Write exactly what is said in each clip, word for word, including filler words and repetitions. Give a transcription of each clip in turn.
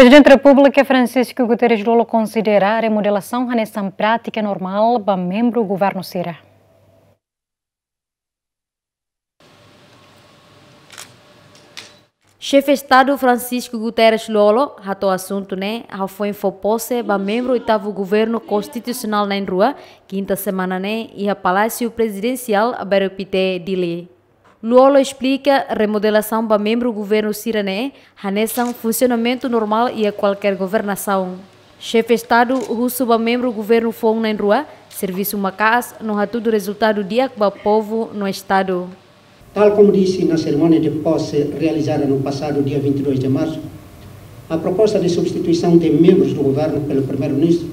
Prezidente Repúblika Francisco Guterres Lú-Olo konsidera remodelasaun hanesan prátika normál ba membru governu sira. Xefe Estadu Francisco Guterres Lú-Olo hato'o asuntu ne'e hafoin fó pose ba membru oitavu Governu Konstitusionál na'in rua, kinta semana ne'e, iha Palásiu Prezidensiál Bairu Pité, Dili. Lú-Olo esplika remodelasaun ba membru governu sira-ne'e hanesan funsionamentu normál iha kualkér governasaun. Xefe Estadu husu ba membru governu foun na'in rua servisu maka'as no hatudu rezultadu di'ak ba povu no Estadu. Tal como disse na cerimónia de posse realizada no passado dia vinte e dois de março, a proposta de substituição de membros do governo pelo primeiro-ministro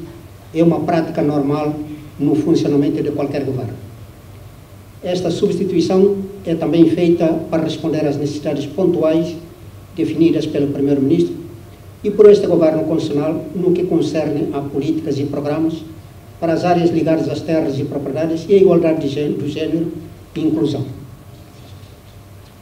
é uma prática normal no funcionamento de qualquer governo. Esta substituição é também feita para responder às necessidades pontuais definidas pelo primeiro-ministro e por este governo constitucional no que concerne a políticas e programas para as áreas ligadas às terras e propriedades e à igualdade de gê-, do género e inclusão.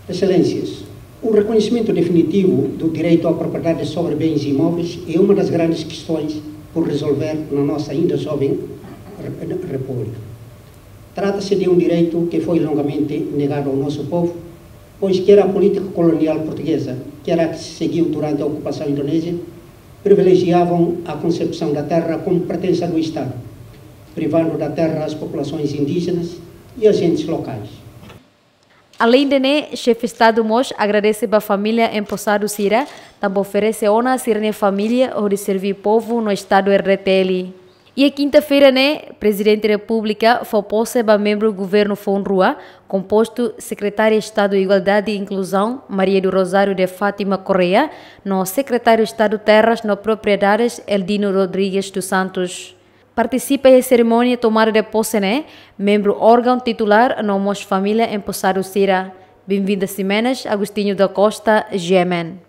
Excelências, o reconhecimento definitivo do direito à propriedade sobre bens imóveis é uma das grandes questões por resolver na nossa ainda jovem re-, República. Trata-se de um direito que foi longamente negado ao nosso povo, pois quer a política colonial portuguesa, quer a que se seguiu durante a ocupação indonésia, privilegiavam a concepção da terra como pertença do Estado, privando da terra as populações indígenas e agentes locais. Aleinde ne'e, Xefe Estadu mós agradese ba família emposadu sira, tanba oferese ona sira-nia família hodi serví povu no Estadu R D T L. Iha kinta-feira ne'e, Prezidente Repúblika fó pose ba membru governu foun rua, kompostu Sekretária Estadu Igualdade e Inkluzaun, Maria do Rosário de Fátima Correia, no Sekretáriu Estadu Terras no Propriedades, Eldino Rodrigues dos Santos. Partisipa iha serimónia tomada de pose ne'e membru órgaun titulár no mós família emposadu sira. Benvinda Ximenes, Agostinho da Costa, G M N.